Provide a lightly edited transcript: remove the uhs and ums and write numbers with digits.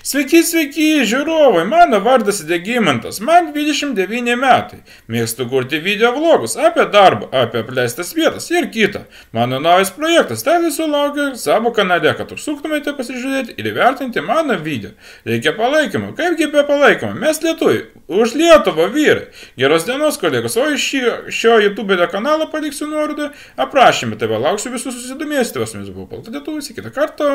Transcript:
Sveiki, sveiki, žiūrovai, mano vardas Degimantas, man 29 metai. Mėgstu kurti video vlogus apie darbą, apie apleistas vietas ir kitą. Mano naujas projektas, tai visų laukiu savo kanale, kad užsuktumėte pasižiūrėti ir įvertinti mano video. Reikia palaikymo, kaipgi be palaikymo, mes lietuviai, už Lietuvą vyrai. Geros dienos, kolegos, o iš šio YouTube kanalo paliksiu nuorodą aprašymę, tai va lauksiu visus susidomėsite, su jumis buvo Palta Lietuvis, iki kito karto.